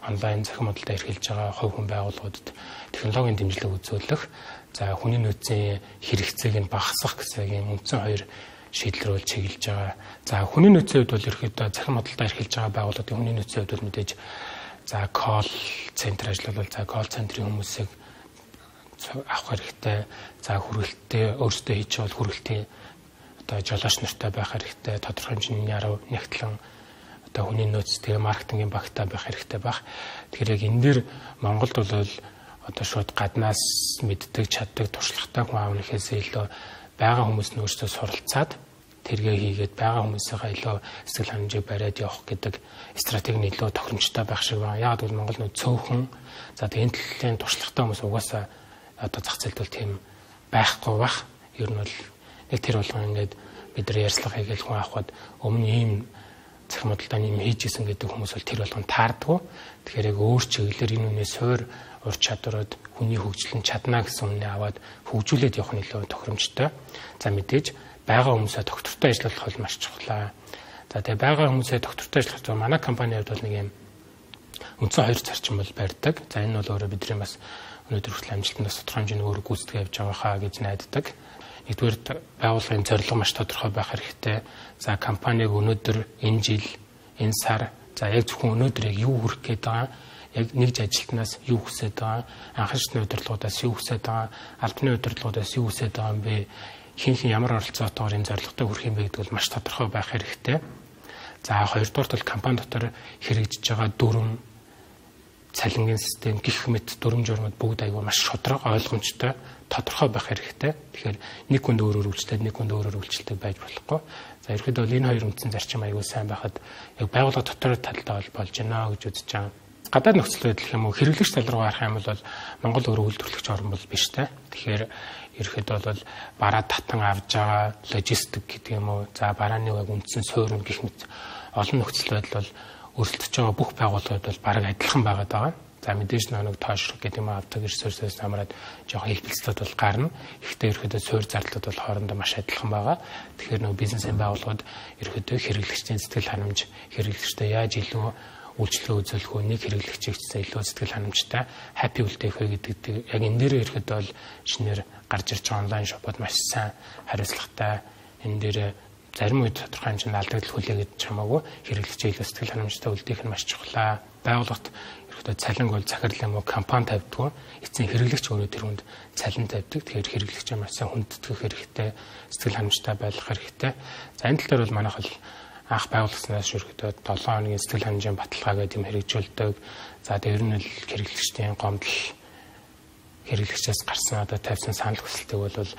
онлайн захин модалд эрхэлж байгаа хувь хүн байгууллагуудад технологийн дэмжлэг үзүүлэх, за хүний нөөцийн хэрэгцээг нь багасгах гэсэн ийм үндсэн хоёр шийдэл рүү чиглэж байгаа. За хүний нөөцийн хувьд бол ерөөхдөө захин модалд эрхэлж байгаа байгууллагуудын хүний нөөцийн хувьд бол мэдээж за call центр ажиллавал за call центрийн хүмүүсийг авах хэрэгтэй. За хүрээлттэй өөрсдөө хийж байгаа хүрээлтийн одоо жолооч нартай байх хэрэгтэй. Тодорхой хэмжээний яруу нэгтлэн одоо хүний нөөц тэгээ маркетингийн багтаа байх хэрэгтэй байх. Тэгэхээр яг энэ дэр Монголд бол одоо шууд гаднаас мэддэг, чаддаг, туршлагатай хүн аавны хэсээ илүү байгаа хүмүүс нь өөрсдөө суралцаад тэргээ хийгээд байгаа хүмүүсийнхээ илүү сэтгэл ханамжийг бариад явах гэдэг стратеги нь илүү тохиромжтой байх шиг байна. Яг бол Монгол нөө цөөхөн за тэгээ энэ төлөвийн туршлагатай хүмүүс угаасаа одоо зах зээлд бол тийм байхгүй бах. Ер нь бол нэг тэр болгон ингээд бид нар ярьцлага хийгээл хүн авахд өмнө ийм захин модалдаа юм хийжсэн гэдэг хүмүүс бол тэр болгон таардгүй. Тэгэхээр яг өөр чиглэлээр энэ үнэ суур ур чадварууд хүний хөгжлөн чадна гэсэн үнэ аваад хөгжүүлээд явах нь илүү тохиромжтой. За мэдээж байгаа хүмүүсээ доктортой ажиллах бол маш чухал. За тэгээ байгаа хүмүүсээ доктортой ажиллах манай компанийн хувьд бол нэг юм үндсэн хоёр зарчим бол барьдаг. За энэ бол өөрөө бидний бас өнөөдөр хүртэл амжилтанд тодорхой хэмжээний өөрөг гүйцэтгэж явж байгаа хаа гэж найддаг. Нэгдүгээр байгууллагын зорилго маш тодорхой байх хэрэгтэй. За компаниг өнөөдөр энэ жил энэ сар за яг зөвхөн өнөөдөр яг юу хүрэх гээд байгаа, яг нэгж ажилтнаас юу хүсэж байгаа, анхаарчны удирдлагуудаас юу хүсэж байгаа, албаны удирдлагуудаас юу хүсэж байгаа юм бэ? Хин ямар оролцоотойгоор энэ зорилготой хүрэх юм бэ гэдэг бол маш тодорхой байх хэрэгтэй. За хоёрдугаар бол компани дотор хэрэгжиж байгаа дүрм, цалингийн систем гэх мэт дүрм журмууд бүгд аягүй маш шудраг, ойлгомжтой, тодорхой байх хэрэгтэй. Тэгэхээр нэг хүнд өөрөөр үйлчлээд нэг хүнд өөрөөр үйлчлдэг байж болохгүй. За ерөнхийдөө энэ хоёр үндсэн зарчим аягүй сайн байхад яг байгууллага дотор талдаа бол болж байна гэж үзэж байгаа. Гадаад нөхцөл байдал юм уу хэрэглэгч тал руу гарах юм бол Монгол өөрөө үйлдвэрлэгч орн бол биш те. Тэгэхээр ерөнхийдөө бол бараа татан авж байгаа логистик гэдэг юм уу. За барааны яг үндсэн суурин гэх мэт олон нөхцөл байдал бол өрсөлдөж байгаа бүх байгууллагууд бол бараг адилхан байгаад байгаа. За мэдээж нэг тоошрог гэдэг юм авдаг ресурсээс хамраад жоохон хэлбэлцэлүүд бол гарна. Ихтэй ерөөдөө суурь зардлууд бол хоорондоо маш адилхан байгаа. Тэгэхээр нэг бизнесийн байгууллагууд ерөөдөө хэрэглэгчдийн сэтгэл ханамж, хэрэглэгчтэй яаж илүү үйлчлэл үзүүлэх үү, нэг хэрэглэгчийн илүү сэтгэл ханамжтай happy үлдээх вэ гэдэг яг энэ дээр ерөөдөө бол шинээр гарч ирж байгаа онлайн шопууд маш сайн хариуцлагатай. Энэ дээр зарим үед тодорхой хэмжээнд алдагдал хүлээгээд чамаагүй хэрэглэгчийн илүү сэтгэл ханамжтай үлдээх нь маш чухал. Байгууллагт ерөөдөө цалинг бол захирал юм уу компани тавьдгүй. Эцсийн хэрэглэгч өөрөө тэр хүнд цалин тавьдаг. Тэгэхээр хэрэглэгчээ маш сайн хүндэтгэх хэрэгтэй, сэтгэл ханамжтай байх хэрэгтэй. За энэ тал дээр бол манайх бол анх байгууллагаснаас ерөөдөө 7 хоногийн сэтгэл ханамжийн баталгаа гэдэг юм хэрэгжүүлдэг. За тэр нь л хэрэглэгчдийн гомдол хэрэглэгчээс гарсан одоо тавьсан санал хүсэлтийг бол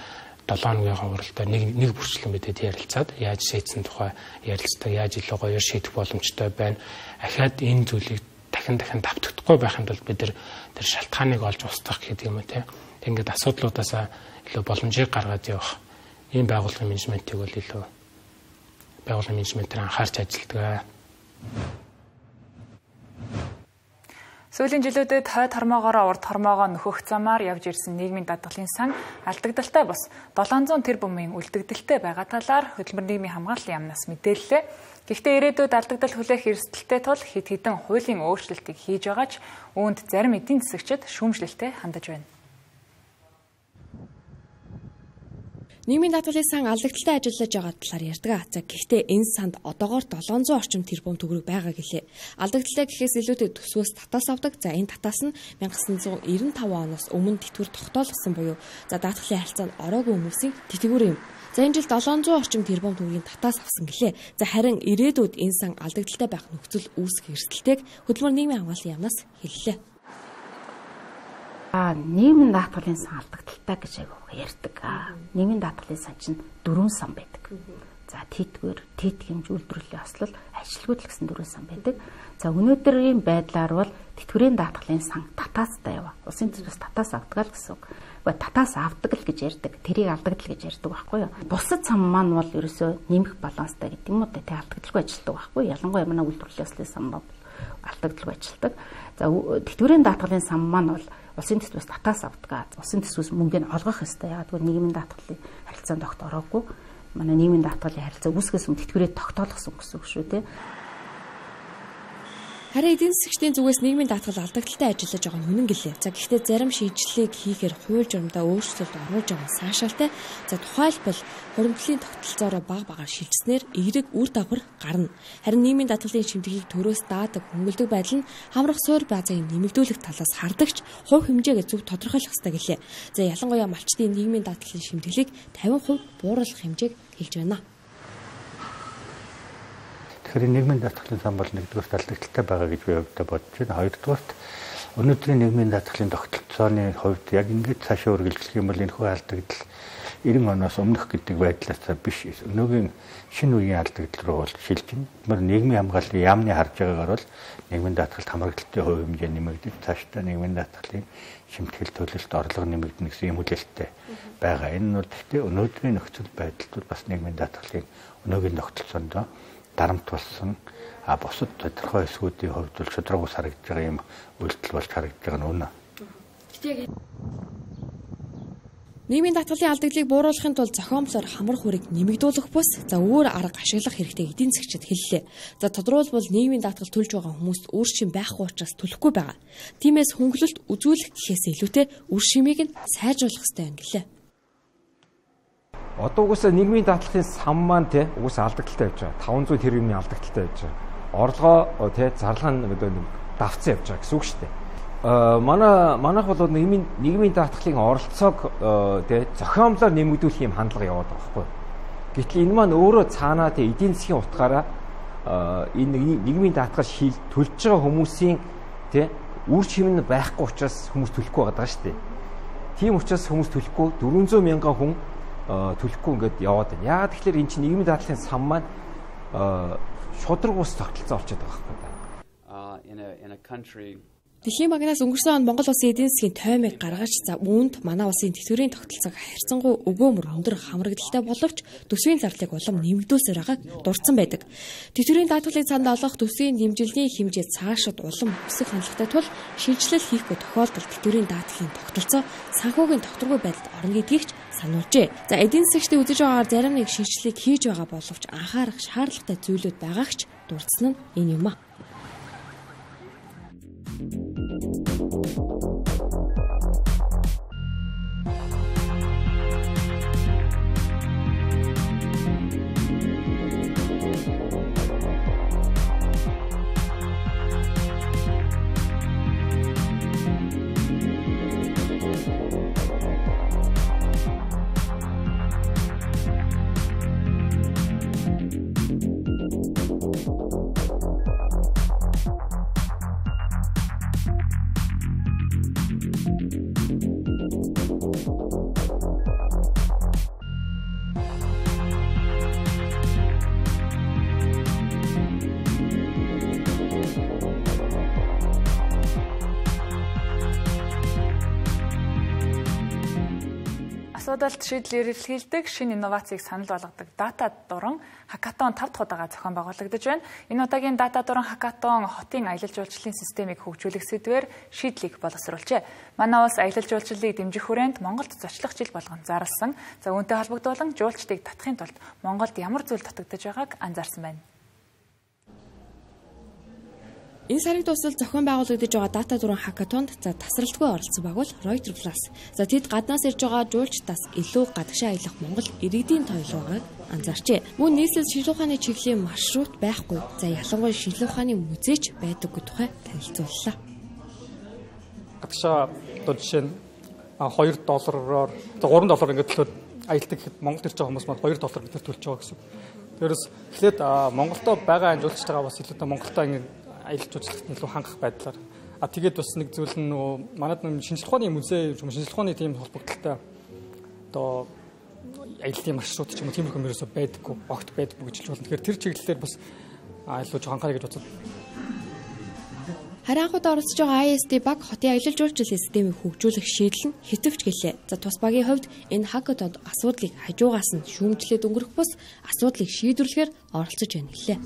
7 хоногийн хугацаанд нэг бүрчлэн бидэд ярилцаад яаж шийдсэн тухай ярилцдаг, яаж илүү гоё шийдэх боломжтой байна. Ахаад энэ зүйлийг дахин давтагдахгүй байхын тулд бид тэр шалтгааныг олж устгах гэдэг юм уу те. Ингээд асуудлуудаасаа илүү боломжийг гаргаад явах. Ийм байгууллагын менежментийг бол илүү байгууллагын менежментээр анхаарч ажилладаг. Сүүлийн жилүүдэд хойд хормоогоор урд хормоогоо нөхөх замаар явж ирсэн нийгмийн даатгалын сан алдагдaltaй бос 700 тэрбумын үлдэгдэлтэй байгаа талаар хөтөлбөр нийгмийн хамгааллын яамнаас мэдээллээ. Гэхдээ ирээдүйд алдагдал хүлээх эрсдэлтэй тул хэд хэдэн хуулийн өөрчлөлтийг хийж байгаа ч үүнд зарим эдийн засагчид шүүмжлэлтэй хандаж байна. Нийгмийн даатгалын сан алдагдaltaй ажиллаж байгаа талаар ярьдаг. За гэхдээ энэ санд одоогоор 700 орчим тэрбум төгрөг байгаа гэлээ. Алдагдaltaй гэхээс илүүтэй төсвөөс татаас авдаг. За энэ татаас нь 1995 оноос өмнө тэтгэвэр тогтоолгосон буюу за даатгалын харилцаанд ороогүй хүмүүсийн тэтгэвэр юм. За энэ жил 700 орчим тэрбум төгрөгийн татаас авсан гэлээ. За харин ирээдүйд энэ сан алдагдaltaй байх нөхцөл үүсэх эрсдэлтэйг хөтөлбөр нийгмийн хамгааллын яамнаас хэллээ. Нийгмийн даатгалын сан алдагдaltaй гэж ярьдаг. Нийгмийн даатгалын сан чинь 4 сан байдаг. За тэтгэр, хэмж үйлдвэрлэлийн ослол, ажилгүйдэл гэсэн 4 сан байдаг. За өнөөдрийн байдлаар бол тэтгэврийн даатгалын сан татаастай яваа. Улсын төсвөөс татаас авдаг л гэсэн үг. Татаас авдаг л гэж ярьдаг. Тэрийг алдагдал гэж ярьдаг байхгүй юу? Бусад сан маань бол ерөөсөө нэмэх баланстай гэдэг юм уу те алдагдaltaгүй ажилтдаг байхгүй юу? Ялангуяа манай үйлдвэрлэлийн ослын сан бол алдагдaltaгүй ажилтдаг. За тэтгэврийн даатгалын сан маань бол улсын төсвөөс татаас авдаг. Улсын төсвөөс мөнгөний олгох ёстой. Яг гэвэл нийгмийн даатгалын харилцаанд огт ороогүй. Манай нийгмийн даатгалын харилцаа үүсгэс өмнө тэтгэврээ тогтоолгосон гэсэн үг шүү те. Харин эдийн засгчдын зүгээс нийгмийн даатгал алдагдaltaй ажиллаж байгаа нь үнэн гэлээ. За гэхдээ зарим шийдвэрлэлийг хийхээр хууль журамдаа өөрчлөлт оруулж байгаа нь сайшаалтай. За тухайлбал хуримтлалын тогтолцоороо бага шилжснээр эерэг үр дагавар гарна. Харин нийгмийн даатгалын шимтгэлийг төрөөс даадаг хөнгөлдөг байдал нь хамрах суур баазыг нэмэгдүүлэх талаас хардагч хувь хэмжээгээ зөв тодорхойлох ёстой гэлээ. За ялангуяа малчдын нийгмийн даатгалын шимтгэлийг 50% бууруулах хэмжээг хэлж байна. Тэгэхээр нийгмийн даатгалын сан бол нэгдүгээр алдагдaltaй байгаа гэж би өвдө бодож байна. Хоёрдугаарт өнөөдрийн нийгмийн даатгалын тогтолцооны хувьд яг ингэж цаашаа үргэлжлэх юм бол энэхүү алдагдал 90 оноос өмнөх гэдэг байдлаас биш. Өнөөгийн шинэ үеийн алдагдал руу бол шилжинэ. Тэгмээр нийгмийн хамгааллын яамны харж байгаагаар бол нийгмийн даатгалт хамрагдaltaй хувь хэмжээ нэмэгдэж цаашдаа нийгмийн даатгалын шимтгэл төлөлт орлого нэмэгдэнэ гэсэн юм хүлээлттэй байгаа. Энэ нь бол гэхдээ өнөөдрийн нөхцөл байдалд бол бас нийгмийн даатгалын өнөөгийн тогтолцоонд дарамт болсон бусад тодорхой эсгүүдийн хувьд бол шудраг ус харагдж байгаа юм үйлдэл болж харагдж байгаа нь үнэ. Нийгмийн даатгалын алдагдлыг бууруулахын тулд зохиомжлоор хамрах үрийг нэмэгдүүлэх бус өөр арга ашиглах хэрэгтэй эдийн засгчид хэллээ. За тодорхойлбол нийгмийн даатгал төлж байгаа хүмүүст үр шим байхгүй учраас төлөхгүй байгаа. Тиймээс хөнгөлөлт үзүүлэх гэхээс илүүтэй үр шимийг нь сайжруулах хэрэгтэй юм гэлээ. Одоо угсаа нийгмийн даатгалын сан маань те угсаа алдагдaltaй явж байгаа. 500 тэрбумын алдагдaltaй явж байгаа. Орлогоо те зарлага нь давцсан явж байгаа гэсэн үг шүү дээ. Манайх бол нийгмийн даатгалын оролцоог те зохиомжлоор нэмэгдүүлэх юм хандлага яваад байгаа байхгүй. Гэтэл энэ маань өөрөө цаанаа те эдийн засгийн утгаараа энэ нийгмийн даатгал төлж байгаа хүмүүсийн те үр шим нь байхгүй учраас хүмүүс төлөхгүй байгаа шүү дээ. Тийм учраас хүмүүс төлөхгүй 400 мянган хүн төлөхгүй ингээд яваад байна. Яагаад тэгэхээр эн чинь нийгмийн даатгалын сан маань шудраг ус тогтолцоо болчиход байгаа байхгүй. Дэлхийн банкнаас өнгөрсөн он Монгол улсын эдийн засгийн тоймыг гаргаж үүнд манай улсын тэтгэврийн тогтолцоог харьцангуй өгөөмөр өндөр хамрагдaltaй боловч төсвийн зарлыг улам нэмэгдүүлсээр байгааг дурдсан байдаг. Тэтгэврийн даатгалыг санд олгох төсвийн дэмжлэгийн хэмжээ цаашид улам өсөх хандлагатай тул шинжилэл хийхгүй тохиолдолд тэтгэврийн даатгалын тогтолцоо санхүүгийн тогтворгүй байдалд орно гэдгийг ч сануулжээ. За эдийн засгчдын үзэж байгаагаар зарим нэг шинжилгээг хийж байгаа боловч анхаарах шаардлагатай зүйлүүд байгаагч дурдсан нь энэ юм а. Асуудалд шийдэл эрэлхийлдэг шинэ инновацийг санал болгодог дата дуран хакатон 5 дахь удаага зохион байгуулагдаж байна. Энэ удаагийн дата дуран хакатон хотын аялал жуулчлалын системийг хөгжүүлэх сэдвээр шийдлийг боловсруулжээ. Манай улс аялал жуулчлалыг дэмжих хүрээнд Монголд зочлох жил болгон зарласан. За үүнтэй холбогдуулан жуулчдыг татахын тулд Монголд ямар зүйл дутагдж байгааг анзаарсан байна. Энэ сарын дуустал зохион байгуулагдаж байгаа дата дуран хакатонд тасралтгүй оролцсон баг бол Reuters Plus. За тэд гаднаас ирж байгаа жуулчдаас илүү гадагшаа аялах Монгол иргэдийн тойлог байгааг анзаарчээ. Мөн нийслэл шинжлэх ухааны чиглэлийн маршрут байхгүй. За ялангуяа шинжлэх ухааны музейч байдаггүй тухай танилцууллаа. Гадагшаа одоо жишээ нь $2-оор $3 ингээд төлөөд аялдаг гэхэд Монголд ирж байгаа хүмүүс маань $2 гэдэг төлж байгаа гэсэн. Тэрээс эхлээд Монголдо байгаа жуулчтайгаа бас илүү Монголдо ингээд аялал жуулчлалт илүү хангах байдлаар тэгээд бас нэг зүйл нь нөгөө манайд нэг шинжилгээ ухааны музей, шинжилгээ ухааны тийм холбогдолтой одоо аяллаа маршрут ч юм уу тийм хүмүүс байдаггүй, огт байдаггүй гэж хэлж болно. Тэгэхээр тэр чиглэлээр бас илүү жоохон анхаарах гэж бодсон. Харин анхуд оролцож байгаа ISD баг хотын аялал жуулчлал системийг хөгжүүлэх шийдэл нь хэвтвч гэлээ. За тус багийн хувьд энэ хакатонд асуудлыг хажуугаас нь шүүмжлээд өнгөрөх бус асуудлыг шийдвэрлэхээр оролцож байна гэлээ.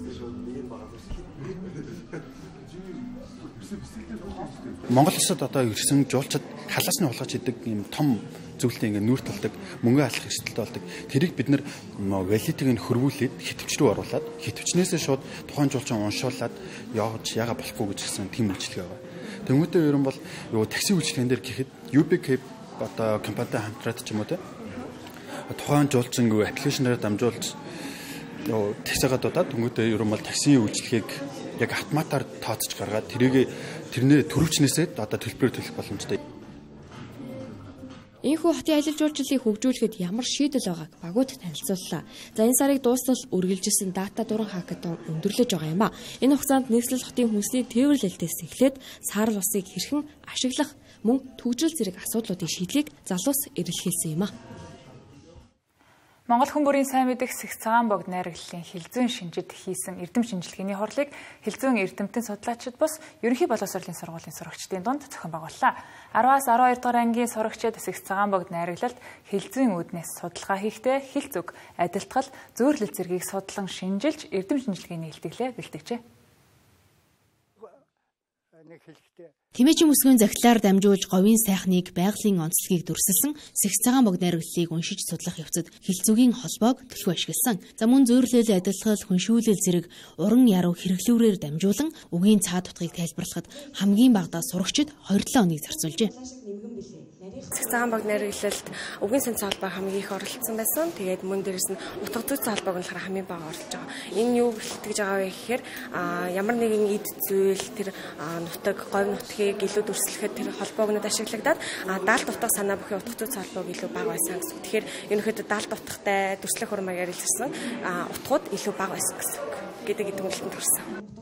Монгол улсад одоо ирсэн жуулчид халаасны хулгайч идэг юм том зүйлтэй ингээд нүүр талдаг, мөнгө алах эрсдэлтэй болдог. Тэрийг бид нэр валютыг нь хөрвүүлээд хитвч рүү оруулаад хитвчнээсээ шууд тухайн жуулчин уншуулад явж яага болохгүй гэж хэлсэн тийм үйлчлэг байгаа. Тэмүүтээ ерөн бол юу такси үйлчлэгэн дээр гэхэд UBK одоо компанитай хамтраад ч юм уу те тухайн жуулчин аппликейшнээр дамжуулж юу таксигаа дуудаад тэмүүтээ ерөн бол такси үйлчлэгийг яг автоматар тооцож гаргаад тэрнээ төрөвчнээсээ одоо төлбөрөөр төлөх боломжтой. Ийхүү хотын аялал жуулчлалыг хөгжүүлэхэд ямар шийдэл байгааг багууд танилцууллаа. За энэ сарыг дуустал үргэлжилсэн дата дуран хакатон өндөрлөж байгаа юм а. Энэ хугацаанд нийслэл хотын хүнсний тээвэрлэлтээс эхлээд саарл усыг хэрхэн ашиглах мөн төгжрөл зэрэг асуудлуудын шийдлийг залуус эрэлхийлсэн юм а. Монгол хүн бүрийн сайн мэдих Сэгс цагаан богд найрагдлын хилцүүн шинжид хийсэн эрдэм шинжилгээний хурлыг хилцүүн эрдэмтэн судлаачид бус ерөнхий боловсролын сургуулийн сурагчдын дунд зохион байгууллаа. 10-аас 12 дугаар ангийн сурагчид Сэгс цагаан богд найраглалд хилцүүн үүднээс судалгаа хийхдээ хилц үг, адилтгал, зөөрлөл зэргийг судлан шинжилж эрдэм шинжилгээний илтгэлээ бэлтгэжээ. Тэмээчийн бүсгүйн захидлаар дамжуулж говийн сайхныг байгалийн онцлогийг дүрсэлсэн Сэгс цагаан богд найрагдлыг уншиж судлах явцад хилцүүгийн холбоог төлхөө ашигласан. За мөн зөөрлөл, адилтгал, хүншүүлэл зэрэг уран яруу хэрэглүүрээр дамжуулан үгийн цаа дутгийг тайлбарлахад хамгийн багадаа сурагчид 27 хоног зарцуулжээ. Сэгс цагаан богд найрагдлалд үгийн санцаа холбоо хамгийн их оролцсон байсан. Тэгээд мөн дээрэс нь утга зүйн холбоог нь хамгийн бага оролцож байгаа. Энэ юу бэлтгэж байгаа вэ гэхээр ямар нэгэн эд зүйл тэр нутаг, говь нутгийг илүү дүрслэхэд тэр холбоогнууд ашиглагдаад даалт утга санаа бүхий утга зүйн холбоог илүү бага байсан гэсэн. Тэгэхээр ерөнхийдөө даалт утгатай дүрслэх урмаар ярилцсан утгууд илүү бага байсан гэдэг идэвхжүүлэлтэнд хүрсэн.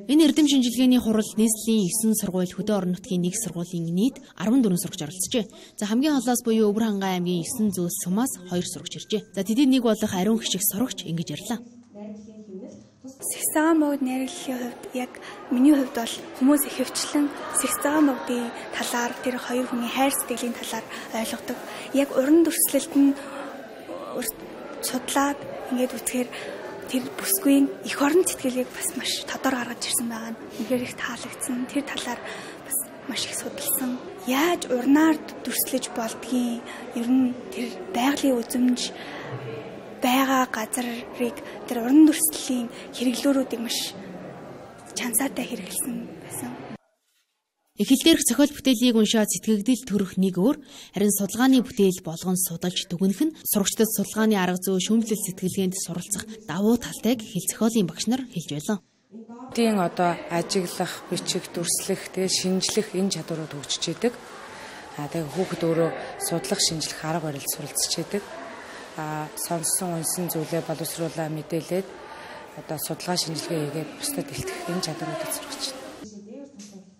Энэ эрдэм шинжилгээний хуралд нийслэлийн 9 сургууль, хөдөө орон нутгийн 1 сургуулийн нийт 14 сурагч оролцжээ. За хамгийн холоос буюу Өвөр хангай аймгийн 9 зүүс сумаас 2 сурагч иржээ. За тэдэд нэг болох ариун хишиг сурагч ингэж ярьлаа. Сэгс цагаан богд найрагдлын хувьд яг миний хувьд бол хүмүүс ихэвчлэн Сэгс цагаан богдын талаар тэр хоёр хүний хайр сэтгэлийн талаар ойлгодог. Яг уран дүрслэлт нь судлаад ингээд үзэхээр тэр бүсгүйн эх орон сэтгэлийг бас маш тодор гаргаж ирсэн байгаа нь үнэхээр их таалагдсан. Тэр талаар бас маш их судалсан. Яаж урнаар дүрслэж болдгийг ер нь тэр байгалийн үзмж байгаа газрыг тэр уран дүрслэлийн хэрэглүүрүүдийг маш чансаатай хэрэгэлсэн байсан. Эхлэл дээрх зохиол бүтээлийг уншаад сэтгэгдэл төрөх нэг өөр, харин судалгааны бүтээл болгон судалж дүгнэх нь сурагчдад судалгааны арга зүй, шүүмжлэл сэтгэлгээнд суралцах давуу талтайг хэл зохиолын багш нар хэлж байлаа. Тийм одоо ажиглах, бичих, дүрслэх, тэгээ шинжлэх энэ чадварууд хөгжиж идэг. Тэгээ хүүхэд өөрөө судлах, шинжлэх арга барил суралцж идэг. Сонссон, унсан зүйлээ боловсруулаа мэдээлээд одоо судалгаа шинжилгээ хийгээд бусдад илтгэх энэ чадваруудыг сургаж байна.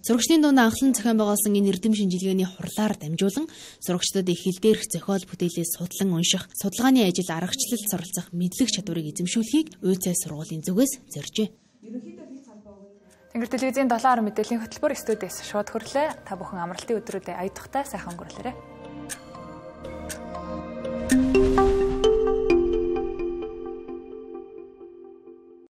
Сурагчдын дунд анхлан зохион байгуулсан энэ эрдэм шинжилгээний хурлаар дамжуулан сурагчдад эхлэл дээрх зохиол бүтээлээ судлан унших, судалгааны ажил аргачлалд суралцах мэдлэг чадварыг эзэмшүүлэхийг УЦ сургуулийн зүгээс зоржээ. Тэнгэр телевизийн 7 орон мэдээллийн хөтөлбөр студиэс шууд хөрлөө. Та бүхэн амралтын өдрүүдэд аяд тухтай сайхан өнгөрүүлээрэй.